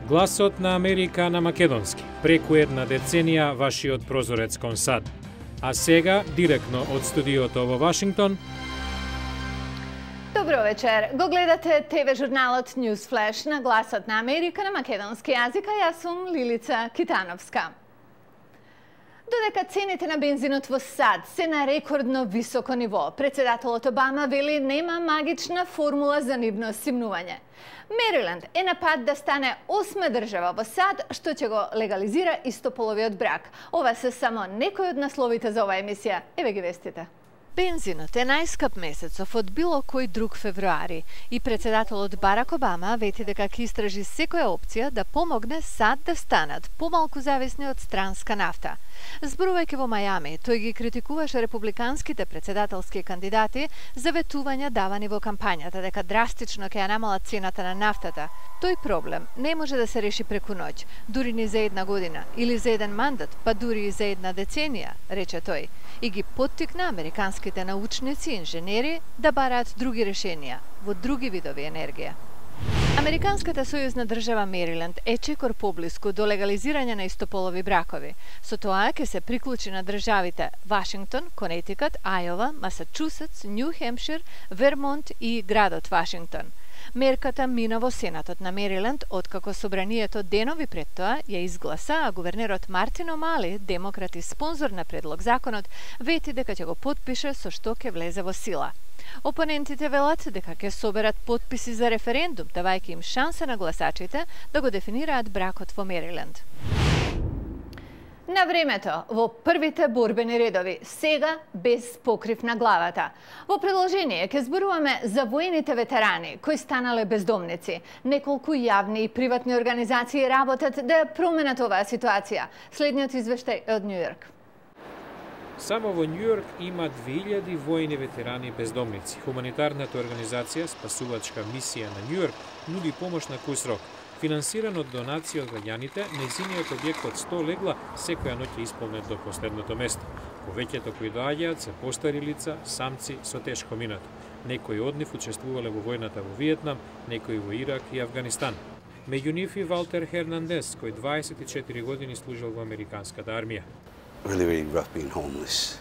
Гласот на Америка на македонски. Преку една деценија вашиот прозорец кон САД. А сега, директно од студиото во Вашингтон. Добро вечер. Го гледате ТВ журналот News Flash на Гласот на Америка на македонски јазик, а јас сум Лилица Китановска. Додека цените на бензинот во САД се на рекордно високо ниво, председателот Обама вели нема магична формула за нивно симнување. Мериленд е на пат да стане 8-ма држава во САД што ќе го легализира истополовиот брак. Ова се само некои од насловите за оваа емисија. Еве ги вестите. Бензинот е најскап месецов од било кој друг февруари и председателот Барак Обама вети дека ќе истражи секоја опција да помогне САД да станат помалку зависни од странска нафта. Зборувајќи во Мајами, тој ги критикуваше републиканските председателски кандидати за ветувања давани во кампањата дека драстично ќе ја намалат цената на нафтата. Тој проблем не може да се реши преку ноќ, дури ни за една година или за еден мандат, па дури и за една деценија, рече тој, и ги поттикна американските научници и инженери да бараат други решенија во други видови енергија. Американската сојузна држава Мериленд е чекор поблиску до легализирање на истополови бракови. Со тоа ќе се приклучи на државите Вашингтон, Конетикат, Ајова, Масачусетс, Њу Хемпшир, Вермонт и градот Вашингтон. Мерката мина во Сенатот на Мериленд, откако собранието денови пред тоа ја изгласа, а гувернерот Мартин Омали, демократ и спонзор на предлог законот, вети дека ќе го потпише со што ќе влезе во сила. Опонентите велат дека ќе соберат потписи за референдум, давајќи им шанса на гласачите да го дефинираат бракот во Мериленд. На времето, во првите борбени редови, сега без покрив на главата. Во продолжение ќе зборуваме за воените ветерани кои станале бездомници. Неколку јавни и приватни организации работат да ја променат оваа ситуација. Следниот извештај од Њу Јорк. Само во Њујорк има 2000 воени ветерани бездомници. Хуманитарната организација Спасувачка мисија на Њујорк нуди помош на куј срок. Финансиран од донации од граѓаните, нејзиниот објект од 100 легла секоја ноќ е исполнет до последното место. Повеќето кои доаѓаат се постари лица, самци со тешко минато. Некои од нив учествувале во војната во Виетнам, некои во Ирак и Авганистан. Меѓу нив и Валтер Хернандес, кој 24 години служил во американската армија.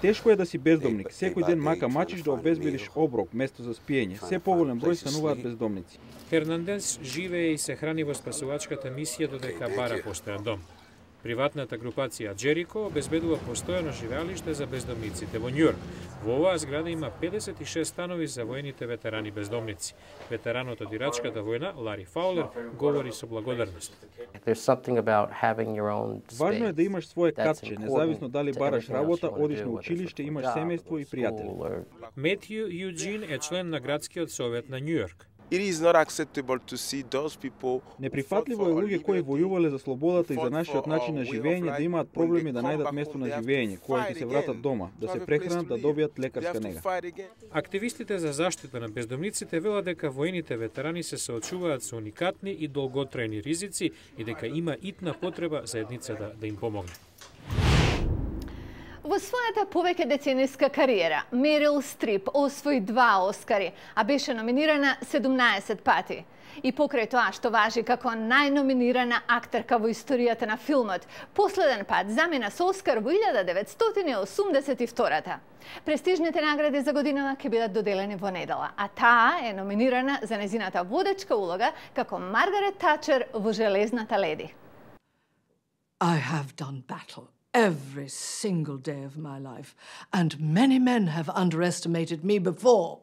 Тешко е да си бездомник. Секој ден мака мачиш да обезбедиш оброк, место за спиење. Се поголем број стануваат бездомници. Хернандес живее и се храни во спасувачката мисија додека бара постојан дом. Приватната групација Джерико обезбедува постојано живеалиште за бездомниците во Њујорк. Во оваа зграда има 56 станови за воените ветерани бездомници. Ветеранот од Ирачката војна, Лари Фаулер, говори со благодарност. Важно е да имаш свое катче, независно дали бараш работа, одиш на училиште, имаш семејство и пријатели. Метју Јуџин е член на градскиот совет на Њујорк. Неприфатливо е луѓе кои војувале за слободата и за нашиот начин на живење да имаат проблеми да најдат место на живење, кое ќе се вратат дома, да се прехранат, да добијат лекарска нега. Активистите за заштита на бездомниците велат дека воените ветерани се соочуваат со уникатни и долготрајни ризици и дека има итна потреба заедницата да им помогне. Во својата повеќе децениска кариера, Мерил Стрип освои 2 Оскари, а беше номинирана 17 пати. И покрај тоа што важи како најноминирана актерка во историјата на филмот, последен пат замина со Оскар во 1982. Престижните награди за годинава ќе бидат доделени во недела, а таа е номинирана за незината водечка улога како Маргарет Тачер во Железната леди. I have done battle every single day of my life, and many men have underestimated me before.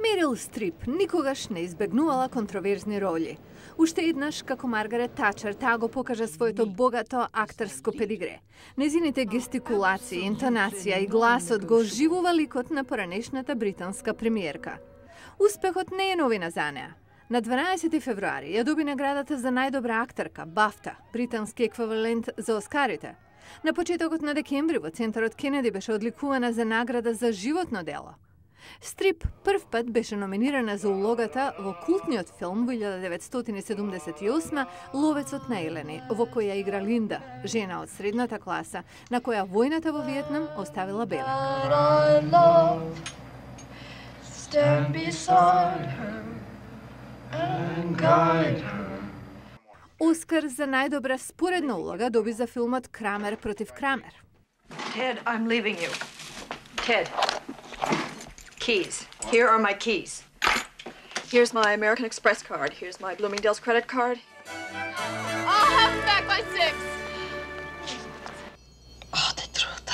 Мерил Стрип никогаш не избегнувала контроверзни роли. Уште еднаш, како Маргарет Тачер, таа го покажа своето богато актерско педигре. Незините гестикулации, интонација и гласот го оживува ликот на поранешната британска премиерка. Успехот не е новина за неа. На 12 февруари ја доби наградата за најдобра актерка, Бафта, британски еквивалент за Оскарите. На почетокот на декември во Центарот Кенеди беше одликувана за награда за животно дело. Стрип прв пат беше номинирана за улогата во култниот филм во 1978 Ловецот на Елени, во кој ја игра Линда, жена од средната класа, на која војната во Виетнам оставила белек. Оскар за најдобра споредна улога доби за филмот Крамер против Крамер. Ted, I'm leaving you. Ted, keys. Here are my keys. Here's my American Express card. Here's my Bloomingdale's credit card. I'll have them back by 6. Oh, the truth.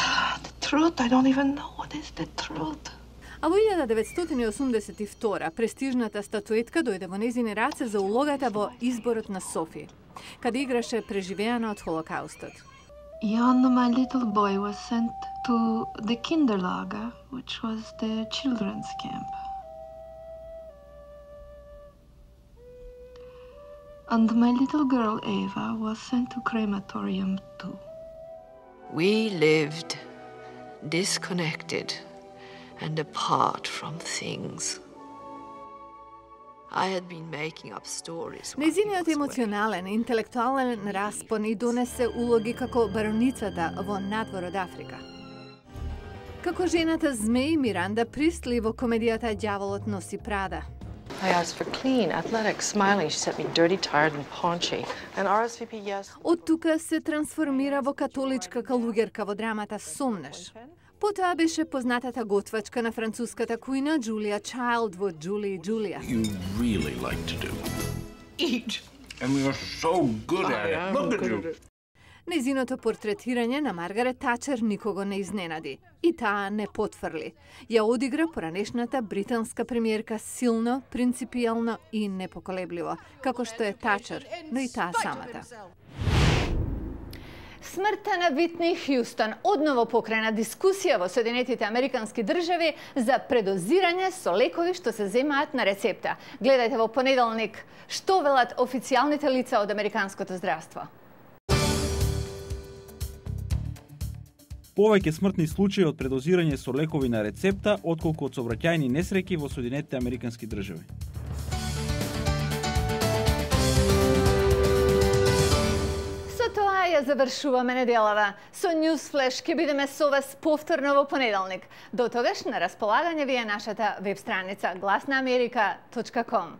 The truth. I don't even know what is the truth. А во 1982 престижната статуетка дојде во незини раце за улогата во Изборот на Софија, каде играше преживеана од Холокаустот. Jan, my little boy, was sent to the Kinderlager, which was the children's camp. And my little girl, Eva, was sent to crematorium too. We lived disconnected and apart from things. I had been making up stories. Незиниот емоционален и интелектуален распон и донесе улоги како бароницата во Надвор од Африка. Како жената змеј Миранда Пристли во комедијата Ѓаволот носи Прада. I asked for clean, athletic, smiling. She sent me dirty, tired, and paunchy. And RSVP, yes. Од тука се трансформира во католичка калугерка во драмата Сомнеш. Потоа беше познатата готвачка на француската кујна Джулија Чайлд во Джули и Джулија. You really like to do. Eat. And we are so good at it. Look at you. Незиното портретирање на Маргарет Тачер никого не изненади. И таа не потврли. Ја одигра поранешната британска премиерка силно, принципијално и непоколебливо, како што е Тачер, но и таа самата. Смртта на Витни Хјустон одново покрена дискусија во Соединетите Американски држави за предозирање со лекови што се земаат на рецепта. Гледајте во понеделник што велат официјалните лица од американското здравство. Повеќе смртни случаи од предозирање со лекови на рецепта отколку од сообраќајни несреќи во Соединетите Американски држави. Тоа ја завршуваме неделава. Со Newsflash ќе бидеме со вас повторно во понеделник. До тогаш на располагање ви е нашата веб страница glasnaamerika.com.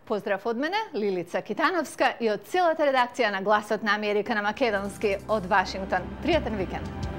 Поздрав од мене, Лилица Китановска и од целата редакција на Гласот на Америка на македонски од Вашингтон. Пријатен викенд!